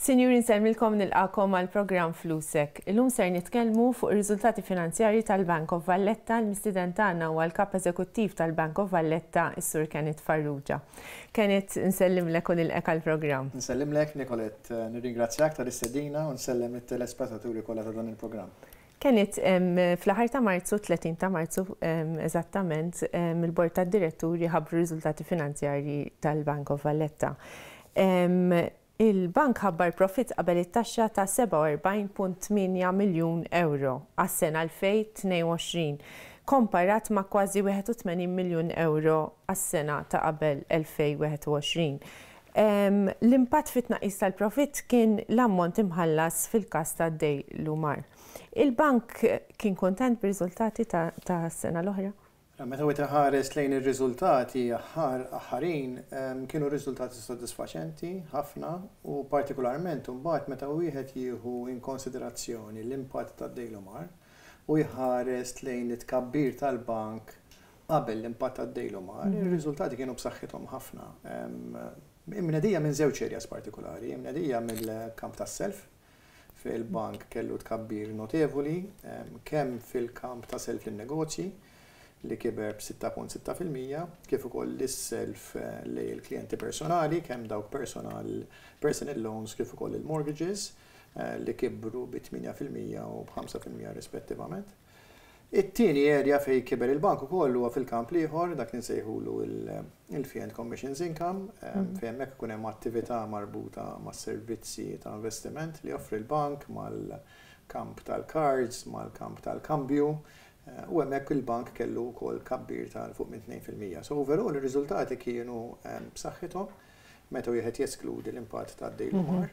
Sinjuri, nsellmilkom, nilqagħkom għal programm Flusek. Illum ser nitkellmu fuq ir-riżultati finanzjarji tal-Bank of Valletta. Il-mistieden tagħna huwa l-Kap Eżekuttiv tal-Bank of Valletta, is-Sur Kenneth Farrugia. Kenneth, nsellimlek u nilqek għal programm. Nsellimlek, Nicolette, nirringrazzjak tal-istedina u nsellem it-telespettaturi kollha ta' dan il-programm. Kenneth, fl-aħħar ta' Marzu, 30 ta' Marzu eżattament, il-Bord tad-Diretturi ħabbru riżultati finanzjarji tal-Bank of Valletta. Il-bank ħabbar profitt qabel it-taxxa ta' 47.8 miljun ewro għas-sena 2022, komparat ma' kważi 81 miljun ewro għas-sena ta' qabel 2021. L-impatt fit-tnaqqis tal-profitt kien l-ammont imħallas fil-każ ta' Deylumar. Il-bank kien kuntent bir-riżultati tas-sena l-oħra? Meta wieħed iħares lejn ir-riżultati aħħar aħħarin, kienu riżultati sodisfaċenti ħafna u partikolarment imbagħad meta wieħed jieħu in konsiderazzjoni l-impatt tad-Deylomar u jħares lejn it-tkabbir tal-bank qabel l-impatt tad-Deylomar, ir-riżultati kienu b'saħħithom ħafna. Imnedija minn żewġ areas partikolari, imnedija mill-kamp tas-self, fejn il-bank kellu tkabbir notevoli kemm fil-kamp ta' self lin-negozji li kiber b'6.6%, kif ukoll is-self lejn il-klijenti personali, kemm dawk personal personal loans kif ukoll il-mortgages li kibru bi 8% u b'5% rispettivament. It-tieni area fejn kiber il-bank ukoll huwa fil-kamp l-ieħor, dak li nsejħulu il-fee and commissions income, fejn hemmhekk ikun hemm attività marbuta mas-servizzi ta' investiment li joffri l-bank, mal-kamp tal-cards, mal-kamp tal-kambju, u hemmhekk il-bank kellu wkoll tkabbir ta' 'l fuq minn 2%. So overall ir-riżultati kienu b'saħħithom meta wieħed jeskludi l-impatt tad-Deylumar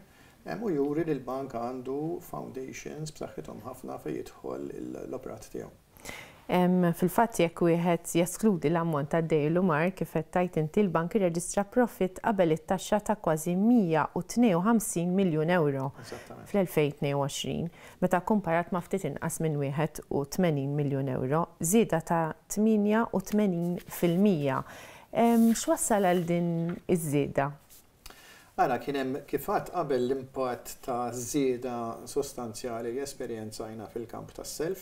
u juri li l-bank għandu foundations b'saħħithom ħafna fejn jidħol l-operat tiegħu. Fil-fatt, jekk wieħed jeskludi l-ammont ta' Deylumar, kif qed tgħid inti, l-bank irreġistra profitt qabel it-taxxa ta' kważi 152 miljun euro fl-2022, meta kkumparat ma' ftit inqas minn 81 miljun euro, żieda ta' 88%. X'wassal għal din iż-żieda? Ara, kien hemm, kif għedt qabel, l-impatt ta' żieda sostanzjali li esperjenzajna fil-kamp tas-self,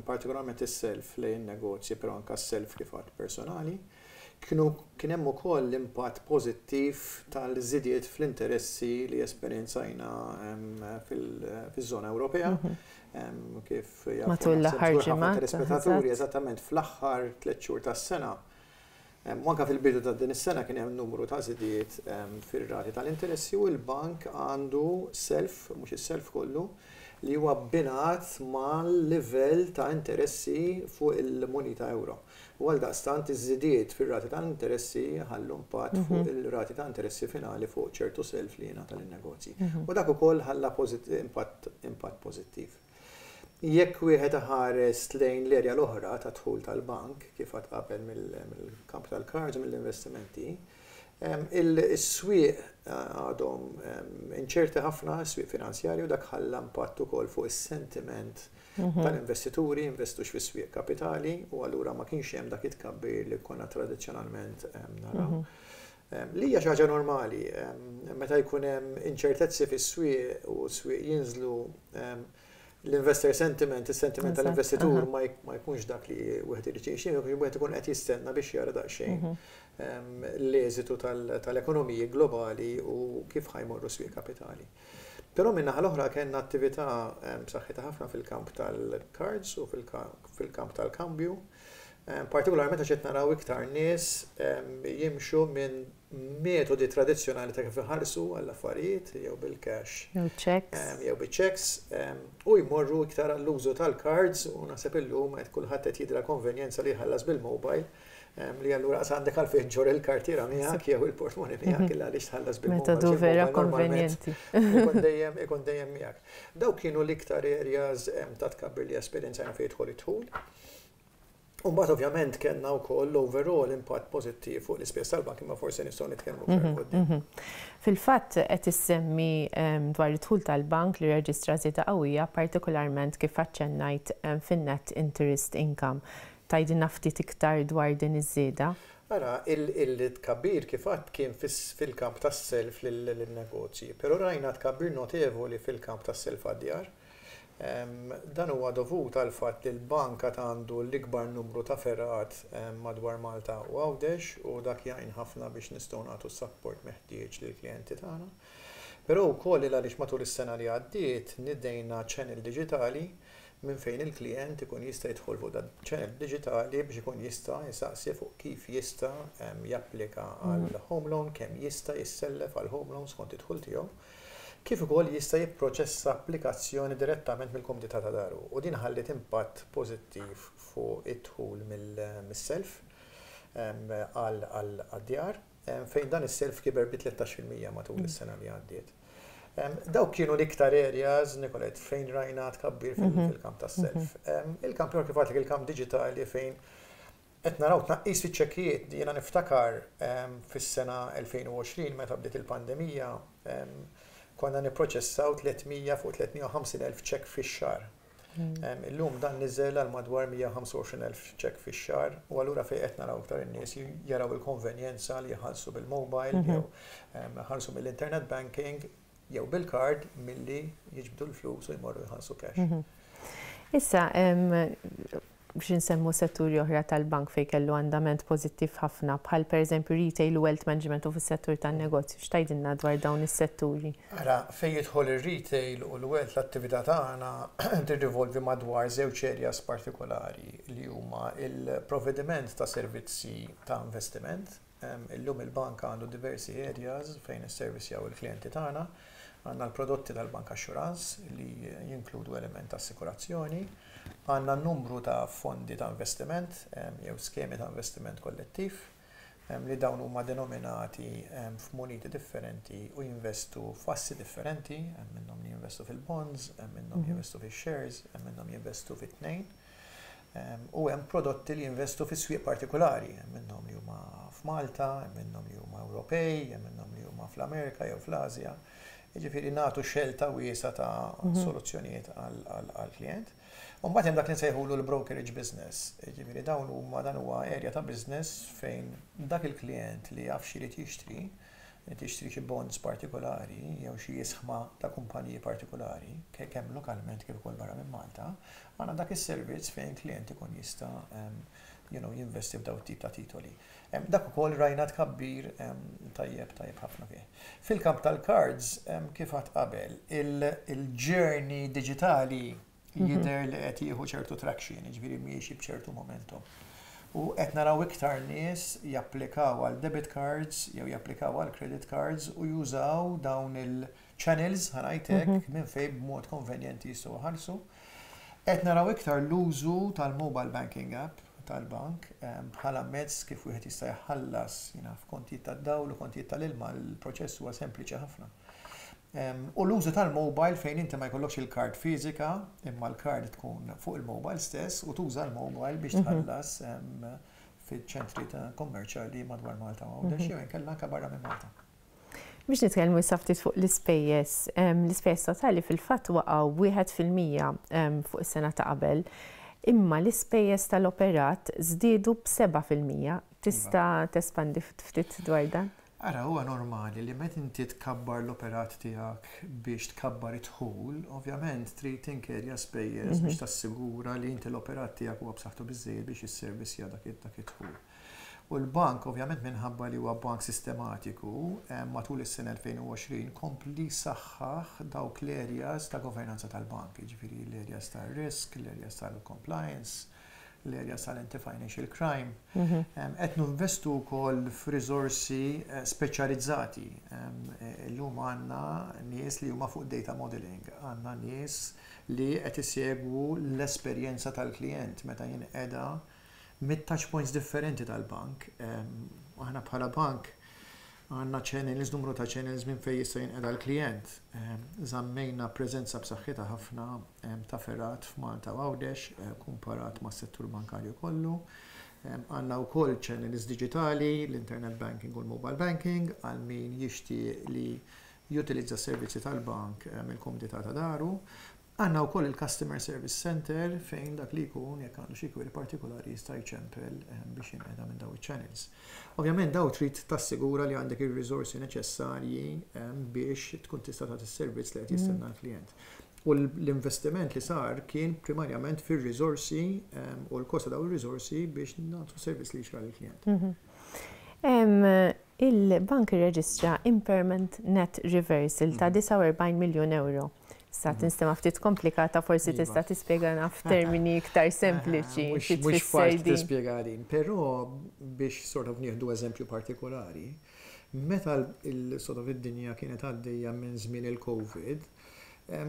partikolarment is-self lejn in-negozji, però anke s-self, kif għedt, personali. Kienu kien hemm ukoll l-impatt pożittiv tal-żidiet fl-interessi li esperjenzajna fiż-żona Ewropea. Kif jafu matul l-aħħar ġimgħat, telespettaturi, eżattament fl-aħħar 3 xhur tas-sena u anke fil-bidu ta' din is-sena kien hemm numru ta' żidiet fir-rati tal-interessi u l-bank għandu self, mhux is-self kollu, li huwa abbinat mal-livell ta' interessi fuq il-munita euro. U għaldaqstant iż-żidiet fir-rati tal-interessi ħallu impatt fuq il-rati ta' interessi finali fuq ċertu self li jingħata lin-negozji. U dak ukoll ħalla impatt impatt pożittiv. Jekk wieħed iħares lejn l-erja l-oħra ta' dħul tal-bank, kif għedt qabel mill-kamp tal-cards u mill-investimenti, is-swieq għadhom inċerti ħafna, is-swieq finanzjarju, dak ħalla impatt ukoll fuq is-sentiment tal-investituri jinvestux fis-swieq kapitali u allura ma kienx hemm dak it-tkabbir li konna tradizzjonalment naraw. Li hija xi ħaġa normali, meta jkun hemm inċertezzi fis-swieq u s-swieq jinżlu, l-investor sentiment, is-sentiment tal-investitur ma jkunx dak li wieħed irid jgħix, wieħed ikun qed jistenna biex jara daqsxejn l-eżitu tal-ekonomiji globali u kif ħa jmorru swieq kapitali. Però min-naħa l-oħra kellna attività b'saħħitha ħafna fil-kamp tal-cards u fil-kamp tal-kambju, partikolarment għax qed naraw iktar nies jimxu minn metodi tradizzjonali ta' kif iħallsu għall-affarijiet, jew bil-cash jew checks. Jew biċ-checks, u jmorru iktar għall-użu tal-cards, u naħseb illum qed kulħadd qed jidra konvenjenza li jħallas bil-mobile, li allura qas għandek għalfejn ġġorr il-kartiera miegħek jew il-portmoni miegħek illa għaliex tħallas bil-mobile. Metodu vera konvenjenti. Ikun dejjem miegħek. Dawk kienu l-iktar areas ta' tkabbir li esperjenzajna fejn jidħol id-dħul. U mbagħad ovvjament kellna wkoll overall impatt pożittiv fuq l-ispejjeż tal-bank, imma forsi nistgħu nitkellmu aktar quddiem. Fil-fatt, qed issemmi dwar id-dħul tal-bank li reġistra żieda qawwija, partikolarment kif aċċennajt fin-net interest income. Tgħidilna ftit iktar dwar din iż-żieda? Ara, il-tkabbir kif għedt kien fil-kamp tas-self lin-negozji, però rajna tkabbir notevoli fil-kamp tas-self għad-djar. Dan huwa dovut għall-fatt li l-bank għad għandu l-ikbar numru ta' fergħat madwar Malta u Għawdex u dak jgħin ħafna biex nistgħu nagħtu s-sapport meħtieġ lill-klijenti tagħna. Però wkoll il għaliex matul is-sena li għaddiet nidejna channel diġitali minn fejn il-klijent ikun jista' jidħol fuq dan channel diġitali biex ikun jista' jsaqsi fuq kif jista' japplika għal home loan, kemm jista' jissellef għal home loan skont id-dħul tiegħu, kif ukoll jista' jipproċessa applikazzjoni direttament mill-kumdità ta' daru, u din ħalliet impatt pożittiv fuq id-dħul mis-self għad-djar, fejn dan is-self kiber bi 13% matul is-sena li għaddiet. Dawk kienu l-iktar areas, Nicolette, fejn rajna tkabbir fil-kamp tas-self. Il-kamp kif għedtlek, il-kamp diġitali, fejn qed naraw tnaqqis fiċ-ċekkijiet. Jiena niftakar fis-sena 2020, meta bdiet il-pandemija, konna nipproċessaw 300 fuq 350 elf ċekk fix-xahar. Illum dan niżel għal madwar 125 elf ċekk fix-xahar u allura fejn qed naraw iktar in-nies jaraw il-konvenjenza li jħallsu bil-mobile jew jħallsu mill-internet banking jew bil-card milli jiġbdu l-flus u jmorru jħallsu cash. Issa, biex nsemmu setturi oħra tal-bank fej kellu andament pożittiv ħafna, bħal per eżempju retail u wealth management u fis-settur tan-negozju, x'tgħidilna dwar dawn is-setturi? Ara, fej jidħol ir-retail u l-wealth, l-attività tagħna tirrivolvi madwar żewġ areas partikolari li huma il-provvediment ta' servizzi ta' investiment. Illum il-bank għandu diversi areas fejn is-servizzi il-klijenti tagħna. Għandna l-prodotti tal-bank assurance li jinkludu element ta' assikurazzjoni, għandna numru ta' fondi ta' investiment jew skemi ta' investiment kollettiv li dawn huma denominati f'muniti differenti u jinvestu f'assi differenti, hemm minnhom li jinvestu fil-bonds, hemm minnhom jinvestu fil-shares, hemm minnhom jinvestu fit-tnejn. U hemm prodotti li jinvestu fi swieq partikolari, hemm minnhom li huma f'Malta, hemm minnhom li huma Ewropej, hemm minnhom li huma fl-Amerika jew fl-Asja. Jiġifieri nagħtu xelta wiesgħa ta' soluzzjonijiet għall-klient. U mbagħad hemm dak li nsejħulu l-brokerage business. Jiġifieri dawn huma dan huwa area ta' business fejn dak il-klient li jaf x'irid jixtri, tixtri xi bonds partikolari jew xi ishma ta' kumpaniji partikolari, kemm lokalment kif ukoll barra minn Malta, għandna dak is-servizz fejn klient ikun jista' jinvesti f'daw tip ta' titoli. Dak ukoll rajna tkabbir tajjeb tajjeb ħafna fih. Fil-kamp tal-cards, kif għedt qabel, il-journey digitali jidher li qed jieħu ċertu traction, jiġifieri miexi b'ċertu momentum. U qed naraw iktar nies japplikaw għal debit cards jew japplikaw għal credit cards u jużaw dawn il-channels, ħa ngħidlek, minn fejn b'mod konvenjenti jistgħu jħallsu. Qed naraw iktar l-użu tal-mobile banking app tal-bank bħala mezz kif wieħed jista' jħallas jiena f'kontijiet tad-dawl u kontijiet tal-ilma, l-proċess huwa sempliċi ħafna. U l-użu tal-mobile fejn inti ma jkollokx il-kard fiżika, imma l-kard tkun fuq il-mobile stess u tuża l-mobile biex tħallas fiċ-ċentri ta' kommerċjali madwar Malta u Għawdex jew inkella anke barra minn Malta. Biex nitkellmu issa ftit fuq l-ispejjeż, l-ispejjeż totali fil-fatt waqgħu 1% fuq is-sena ta' qabel, imma l-ispejjeż tal-operat żdiedu b'7%. Tista' tespandi ftit dwar dan? Ara, huwa normali li meta inti tkabbar l-operat tiegħek biex tkabbar id-dħul, ovvjament trid tinkerja spejjeż biex tassigura li inti l-operat tiegħek huwa b'saħħtu biżejjed biex jisservisja dak id-dħul. U l-bank, ovvjament minħabba li huwa bank sistematiku, matul is-sena 2020 kompli saħħaħ dawk l-areas ta' governanza tal-bank, jiġifieri l-areas tal-risk, l-areas tal-compliance, l-areas tal-anti-financial crime. Qed ninvestu wkoll f'riżorsi speċjalizzati. Illum għandna nies li huma fuq data modeling, għandna nies li qed isegwu l-esperjenza tal-klient meta jinqeda mit-touch points differenti tal-bank. Aħna bħala bank għandna channels, numru ta' channels minn fejn jista' jinqeda l-klient. Żammejna preżenza b'saħħitha ħafna ta' fergħat f'Malta u Għawdex kumparat mas-settur bankarju kollu. Għandna wkoll channels digitali, l-internet banking u l-mobile banking, għal min jixtieq li jutilizza s-servizzi tal-bank mill-kumdità ta' daru. Għandna wkoll il-Customer Service Center fejn dak li jkun jekk għandu xi query partikolari jista' jċempel biex jinqeda minn dawn iċ-channels. Ovvjament dawn trid tassigura li għandek ir-riżorsi neċessarji biex tkun tista' tagħti s-servizz li qed jistenna l-klijent. U l-investiment li sar kien primarjament fir-riżorsi u l-kost ta' dawn ir-riżorsi biex nagħtu servizz li jixraq lill-klijent. Il-bank irreġistra impairment net reversal ta' 49 miljun ewro. Sa tinstema' ftit komplikata, forsi tista' tispjegana f'termini iktar sempliċi xi Mhux tfisser faċli din. tispjega din, però biex sort of nieħdu eżempju partikolari, meta sort of id-dinja kienet għaddejja minn żmien il-Covid,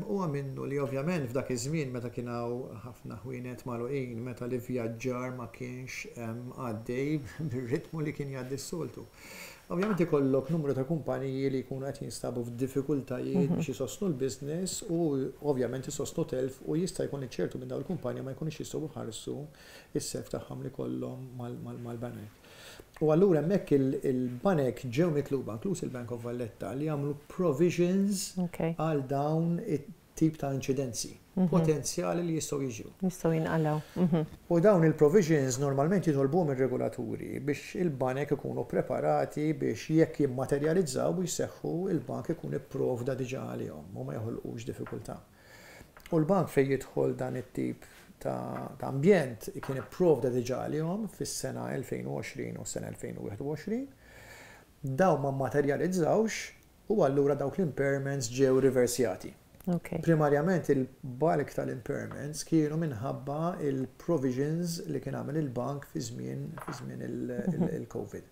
huwa minnu li ovvjament f'dak iż-żmien meta kien hawn ħafna ħwienet magħluqin, meta l-ivvjaġġar ma kienx għaddej bir-ritmu li kien jgħaddi s-soltu. Ovvjament ikollok numru ta' kumpaniji li jkunu qed jinstabu f'diffikultajiet biex isostnu l-business u ovvjament isostnu telf u jista' jkun li ċertu minn dawn il-kumpaniji ma jkunux jistgħu jħallsu s-self tagħhom li kollhom mal-banek. U allura hemmhekk il-banek ġew mitluba, inkluż il-Bank of Valletta, li jagħmlu provisions għal dawn it-tip ta' inċidenzi potenzjali li jistgħu jiġru. Jistgħu jinqalgħu. U dawn il-provisions normalment jitolbuhom ir-regolaturi biex il-banek ikunu preparati biex jekk jimmaterjalizzaw u jseħħu, il-bank ikun ipprovda diġà għalihom u ma joħolqux diffikultà. U l-bank fejn jidħol dan it-tip ta' ambjent kien ipprovda diġà għalihom fis-sena 2020 u s-sena 2021. Dawn ma mmaterjalizzawx u allura dawk l-impairments ġew riversjati. Primarjament il-bulk tal-impairments kienu minħabba il-provisions li kien għamel il-bank fi żmien il-Covid.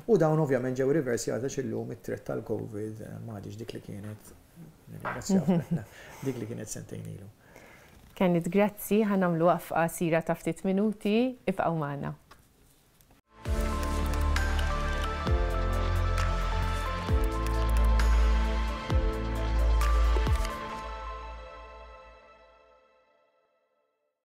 U dawn ovvjament ġew riversjati għax illum it-threat tal-Covid m'għadix dik li kienet, nirringrazzjaw, dik li kienet sentejn ilu. Kenneth, grazzi, ħa nagħmlu waqfa qasira ta' ftit minuti, ibqgħu magħna.